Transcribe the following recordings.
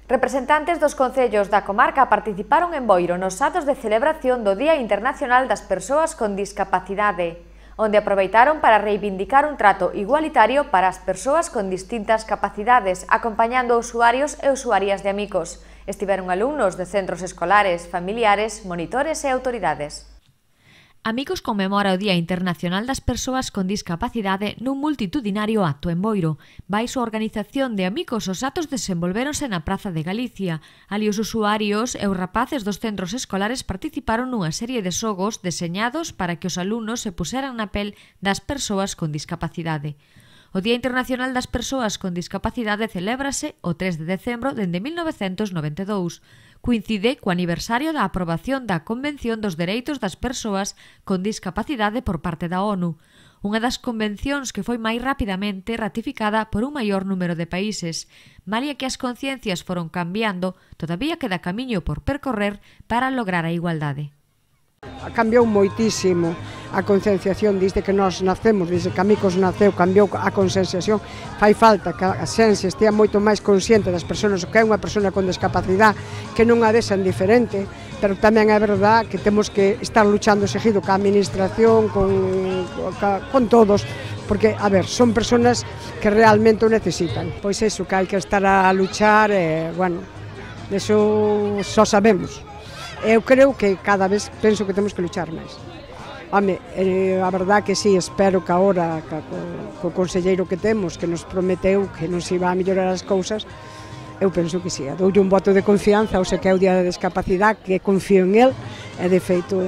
Representantes dos concellos da comarca participaron en Boiro nos atos de celebración do Día Internacional das Persoas con Discapacidade, onde aproveitaron para reivindicar un trato igualitario para as persoas con distintas capacidades, acompañando usuarios e usuarias de Amicos. Estiveron alumnos de centros escolares, familiares, monitores e autoridades. Amicos conmemora o Día Internacional das Persoas con Discapacidade nun multitudinario acto en Boiro. Baixo a organización de Amicos, os atos desenvolvéronse na Praza de Galicia. Ali os usuarios e os rapaces dos centros escolares participaron nunha serie de xogos deseñados para que os alumnos se puseran na pel das persoas con discapacidade. O Día Internacional das Persoas con Discapacidade celébrase o 3 de decembro dende 1992. Coincide co aniversario da aprobación da Convención dos Dereitos das Persoas con Discapacidade por parte da ONU, unha das convencións que foi máis rapidamente ratificada por un maior número de países. Malia que as conciencias foron cambiando, todavía queda camiño por percorrer para lograr a igualdade. Cambiou moitísimo a concienciación desde que nós nacemos, desde que Amicos naceu, cambiou a concienciación. Fai falta que a xente estea moito máis consciente das persoas, que é unha persona con discapacidade, que non a vexan diferente, pero tamén é verdad que temos que estar luchando seguido ca administración, con todos, porque, a ver, son persoas que realmente o necesitan. Pois iso, que hai que estar a luchar, bueno, iso só sabemos. Eu creo que cada vez penso que temos que luchar máis. Home, a verdad que sí, espero que agora, co conselleiro que temos, que nos prometeu que nos iba a mellorar as cousas, eu penso que sí, doulle un voto de confianza, ou se que é o Día da Discapacidade, que confío en el, e de feito...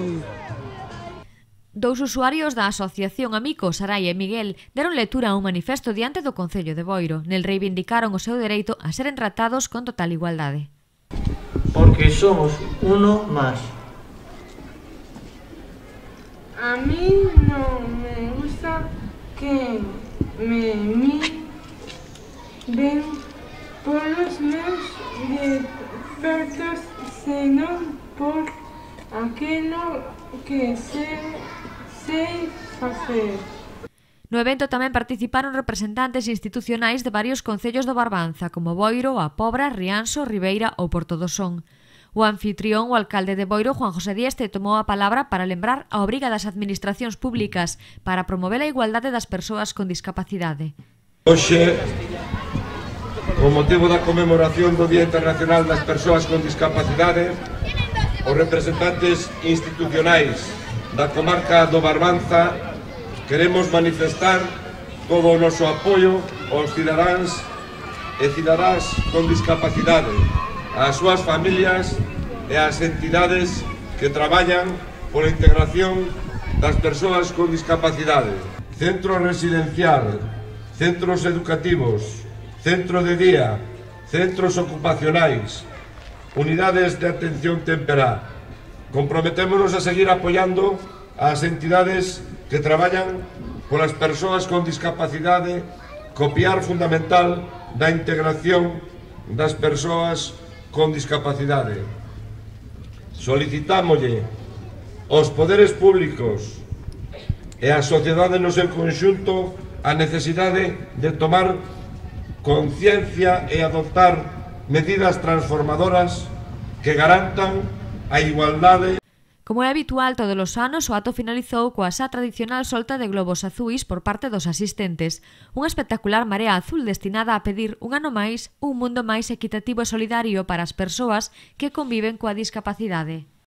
Dous usuarios da Asociación Amicos, Sarai e Miguel, deron lectura a un manifesto diante do Concello de Boiro. Nel reivindicaron o seu dereito a seren tratados con total igualdade. Porque somos uno más. A mí no me gusta que me miren por los meus defectos, senón por aquilo que sei facer. No evento tamén participaron representantes institucionais de varios concellos do Barbanza, como Boiro, A Pobra, Rianxo, Ribeira ou Porto do Son. O anfitrión, o alcalde de Boiro, Juan José Dieste, tomou a palabra para lembrar a obriga das administracións públicas para promover a igualdade das persoas con discapacidade. Hoxe, con motivo da conmemoración do Día Internacional das Persoas con Discapacidade, os representantes institucionais da comarca do Barbanza queremos manifestar todo o noso apoio aos cidadáns e cidadás con discapacidade, ás súas familias e ás entidades que traballan pola integración das persoas con discapacidade. Centro residencial, centros educativos, centro de día, centros ocupacionais, unidades de atención temperá. Comprometémonos a seguir apoiando ás entidades que traballan polas persoas con discapacidade, co piar fundamental da integración das persoas con discapacidade. Solicitámoslle aos poderes públicos e á sociedade no seu conxunto a necesidade de tomar conciencia e adoptar medidas transformadoras que garantan a igualdade. Como é habitual todos os anos, o acto finalizou coa xa tradicional solta de globos azuis por parte dos asistentes. Unha espectacular marea azul destinada a pedir un ano máis un mundo máis equitativo e solidario para as persoas que conviven coa discapacidade.